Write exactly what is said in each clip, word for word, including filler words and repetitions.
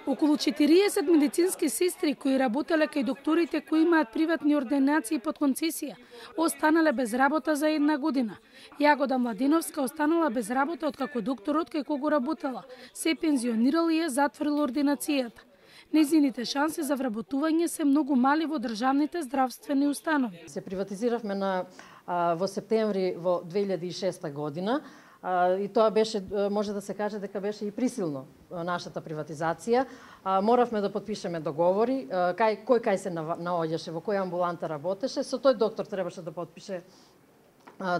Околу четириесет медицински сестри кои работеле кај докторите кои имаат приватни ординации под концесија, останале без работа за една година. Јагода Младеновска останала без работа откако докторот кај кого работела се пензионирал и ја затворил ординацијата. Незините шанси за вработување се многу мали во државните здравствени установи. Се приватизиравме на во септември во две илјади и шеста година. И тоа беше, може да се каже дека беше и присилно нашата приватизација. Моравме да подпишеме договори, кај, кој кај се наоѓаше, во која амбуланта работеше, со тој доктор требаше да подпише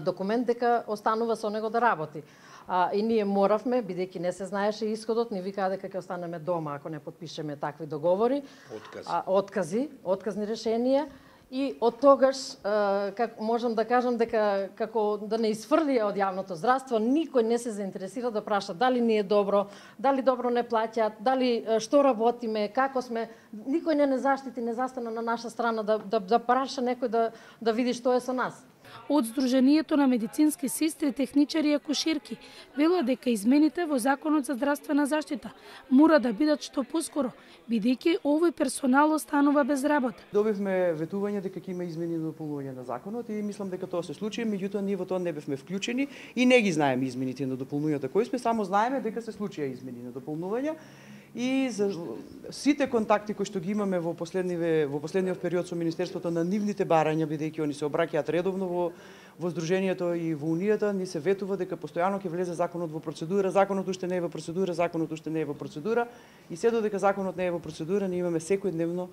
документ дека останува со него да работи. И ние моравме, бидејќи не се знаеше исходот, ни викаа дека ќе останеме дома ако не подпишеме такви договори. Откази. Откази, отказни решенија. И од тогаш, как можам да кажам дека како да не изфрлија од јавното здравство, никој не се заинтересира да праша дали ни е добро, дали добро не плаќаат, дали што работиме, како сме. Никој не не заштити, не застана на наша страна да да, да праша некој да да види што е со нас. Од Сдруженијето на медицински сестри, техничари и акушерки велат дека измените во Законот за здравствена заштита мора да бидат што поскоро, бидејќи овој персонал останува без работа. Добивме ветување дека ќе има измени и дополнување на законот и мислам дека тоа се случи, меѓутоа ние во тоа не бевме вклучени и не ги знаеме измените на дополнувањата кои сме, само знаеме дека се случија измени на дополнувања. И за сите контакти кои што ги имаме во последниве во последниот период со Министерството на нивните барања, бидејќи они се обраќаат редовно во во Сдруженијето и во Унијата, ни се ветува дека постојано ќе влезе законот во процедура, законот уште не е во процедура, законот уште не е во процедура и се додека законот не е во процедура, ние имаме секојдневно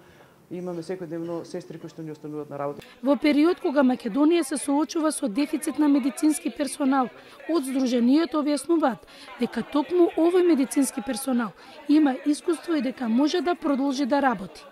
имаме секојдневно сестри кои што ни остануваат на работа. Во период кога Македонија се соочува со дефицит на медицински персонал, од Сдруженијето објаснуваат дека токму овој медицински персонал има искуство и дека може да продолжи да работи.